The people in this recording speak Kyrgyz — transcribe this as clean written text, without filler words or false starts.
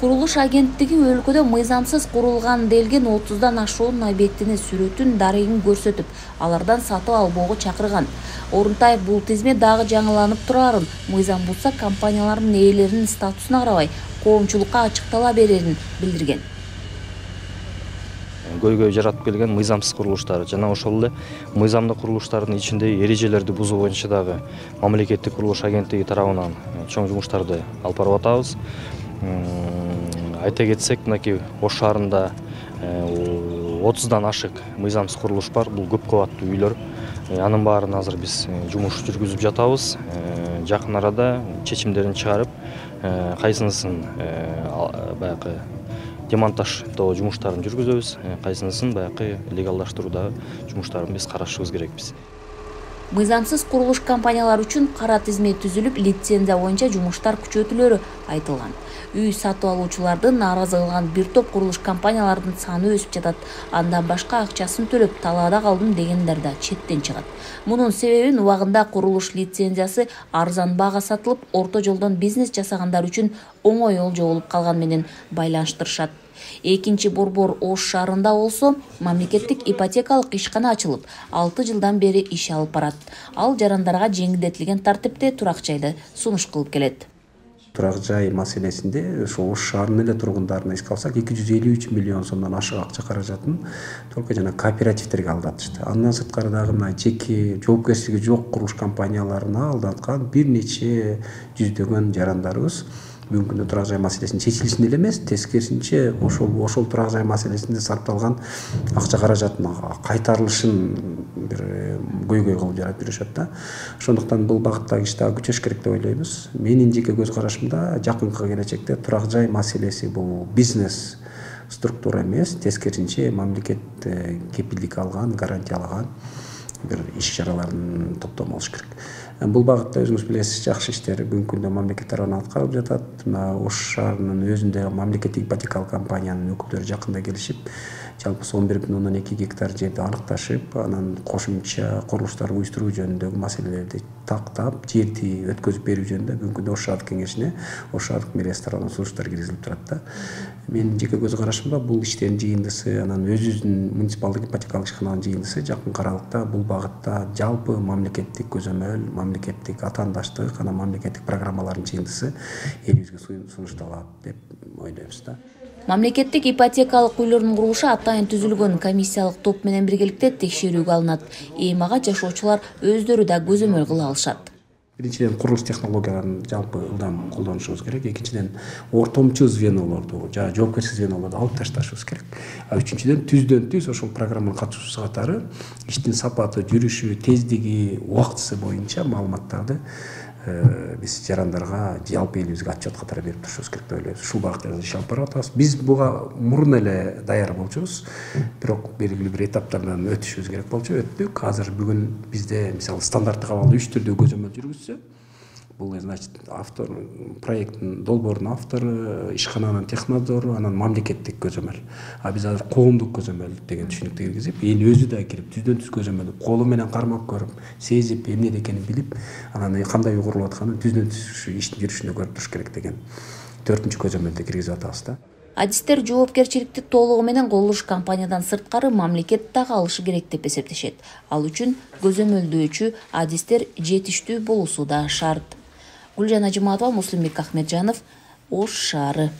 Курулуш агенттиги өлкөдө мыйзамсыз курулган делген 30дан ашуун объектини сүрөтүн дарегин көрсөтүп, алардан сатып албоого чакырган. Орунтаев бул тизме дагы жаңыланып турарын, мыйзам бузса компаниялардын ээлеринин статусуна карабай коомчулукка ачыктала берерин билдирген. Көйгөй жаратып келген мыйзамсыз курулуштар жана ошол эле мыйзамдык курулуштардын ичинде эрежелерди бузуу боюнча дагы мамлекеттик курулуш агенттиги тарабынан чоң жумуштарды алып барып атабыз. Айта кетсек, мынакей Ош шаарында 30дан ашык мыйзамсыз курулуш бар. Бул көп кабаттуу үйлөр. Анын баарын азыр биз жумуш жүргүзүп жатабыз. Жакын арада чечимдерин чыгарып, кайсынысын баягы демонтаждоо жумуштарын жүргүзөбүз, кайсынысын баягы легалдаштыруудагы жумуштарын биз карашыбыз керекпиз. Мыйзамсыз курулуш компаниялар үчүн кара тизме түзүлүп, лицензия боюнча жумуштар күчөтүлөрү айтылган. Үй сатып алуучулардын нааразы кылган бир топ курулуш компаниялардын саны өсүп жатат. Андан башка акчасын төлөп талаада калдым дегендер да четтен чыгат. Мунун себебин убагында курулуш лицензиясы арзан баага сатылып, орто жолдон бизнес жасагандар үчүн оңой олжо болуп калган менен байланыштырышат. Экинчи борбор Ош шаарында болсо мамлекеттик ипотекалык ишкана ачылып, 6 жылдан бери иш алып барат. Ал жарандарга жеңилдетилген тартипте турак жайды сунуш кылып келет. Турак жай маселесинде ошо Ош шаарынын эле тургундарына эске алсак 253 миллион сомдон ашык акча каражатын только жана кооперативтерге алдатышты. Андан сырткары дагы мына жеке жоопкерчилиги жок курулуш компанияларына алдаткан бир нече жүздөгөн жарандарыбыз бүгүнкү күндө турак жай маселесинин чечилишин эле эмес, тескерисинче ошол турак жай маселесинде сарпталган акча каражатынын кайтарылышын бир көйгөй кылып жаратып жүрүшөт да. Ошондуктан бул багыттагы иш дагы күчөш керек деп ойлойбуз. Менин жеке көз карашымда жакынкы келечекте турак жай маселеси бул бизнес структура эмес, тескерисинче мамлекет кепилдик алган, гарантиялаган бир иш-чаралардын топтому болуш керек. Бул багытта өзүңүз билесиз, жакшы иштер бүгүнкү күндө мамлекет тарабынан аткарылып жатат. Мына Ош шаарынын өзүндө мамлекеттик ипотекалык компаниянын өкүлдөрү жакында келишип, жалпы 11,2 гектар жерди аныкташып, анан кошумча курулуштар уюштуруу жөнүндөгү маселелерди тактап, жерди өткөзүп берүү жөнүндө бүгүнкү күндө Ош шаардык кеңешине Ош шаардык мэриясы тарабынан сунуштар киргизилип турат да. Менин жеке көз карашымда бул иштердин жыйындысы, анан өзүбүздүн муниципалдык ипотекалык ишкананын жыйындысы жакын аралыкта бул багытта жалпы мамлекеттик көзөмөл, мамлекеттик атаандаштык, анан мамлекеттик программалардын жыйындысы элибизге сунушталат деп ойлойбуз да. Мамлекеттик ипотекалык үйлөрдүн курулушу атайын түзүлгөн комиссиялык топ менен биргеликте текшерүүгө алынат. Эми ага жашоочулар өздөрү да көзөмөл кыла алышат. Биринчиден курулуш технологияларын жалпы ылдам колдонушубуз керек. Экинчиден ортомчу звенолорду, жана жоопкерчилик звенолорду алып ташташыбыз керек. Үчүнчүдөн түздөн түз ошол программанын катышуучу катары иштин сапаты, жүрүшү, тездиги, убактысы боюнча маалыматтарды биз жарандарга жалпы элибизге отчет катары берип турушубуз керек деп ойлойбуз. Ушул багытта иш алып барып атабыз. Биз буга мурун эле даяр болчубуз, бирок белгилүү бир этаптардан өтүшүбүз керек болчу, өттүк. Азыр бүгүн бизде мисалы стандарттык абалда 3 түрдүү көзөмөл жүргүзсө, бул значит автор, проекттин долбоорунун автору, ишкананын технадзору, анан мамлекеттик көзөмөл. Биз азыр коомдук көзөмөл деген түшүнүктү киргизип, эл өзү да кирип түздөн түз көзөмөлдү колу менен кармап көрүп, сезип, эмнеде экенин билип, анан кандай үй курулуп атканын түздөн түз иштин жүрүшүндө көрүп туруш керек деген 4-үнчү көзөмөлдү киргизип атабыз да. Адистер жоопкерчиликти толугу менен курулуш компаниядан сырткары мамлекет дагы алышы керек деп эсептешет. Ал үчүн көзөмөлдөөчү адистер жетиштүү болуусу да шарт. Гүлжан Ажыматова, Муслимбек Ахмеджанов, Ош шаары.